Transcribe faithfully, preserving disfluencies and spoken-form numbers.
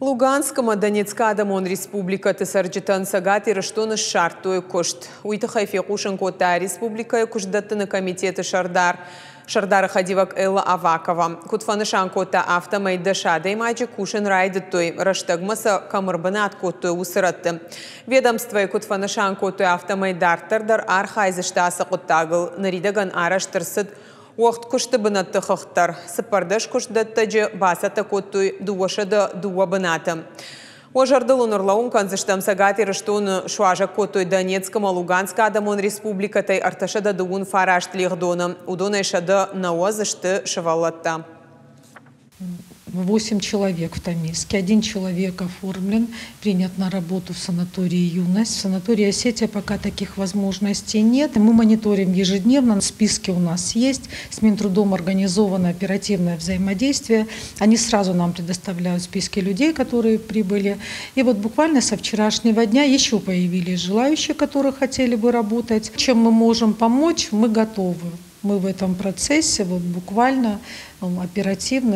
Луганскы ӕмӕ Донецкы Адӕмон Республикӕты цӕрджытӕн Цӕгат Ирыстоны ссардтой куыст. Уый тыххӕй фехъусын кодта республикӕйы куыстдӕттыны комитеты сӕрдар сӕрдары хӕдивӕг Элла Авакова. Куыд фӕнысан кодта, афтӕмӕй дӕс адӕймаджы кусын райдыдтой, рӕстӕгмӕ сӕ кӕм ӕрбынат кодтой, уыцы рӕтты. Ведомствойы куыд фӕнысан кодтой, афтӕмӕй дарддӕр дӕр архайдзысты ацы хъуыддагыл. Ныридӕгӕн арӕзт ӕрцыд уӕгъд куысты бынӕтты хыгъд дӕр. Цыппӕрдӕс куыстдӕттӕджы бацӕттӕ кодтой дыууӕсӕдӕ дыууӕ бынаты. Уӕ зӕрдыл уын ӕрлӕууын кӕндзыстӕм, Цӕгат Ирыстоны суазӕг кодтой Донецк ӕмӕ Луганскы Адӕмон Республикӕтӕй ӕртӕсӕдӕ дыууын фараст лигъдоны. Уыдонӕй сӕдӕ нӕуӕдз сты сывӕллӕттӕ. Восемь человек в Тамиске. Один человек оформлен, принят на работу в санатории «Юность». В санатории «Осетия» пока таких возможностей нет. Мы мониторим ежедневно, списки у нас есть. С Минтрудом организовано оперативное взаимодействие. Они сразу нам предоставляют списки людей, которые прибыли. И вот буквально со вчерашнего дня еще появились желающие, которые хотели бы работать. Чем мы можем помочь, мы готовы. Мы в этом процессе вот буквально оперативно.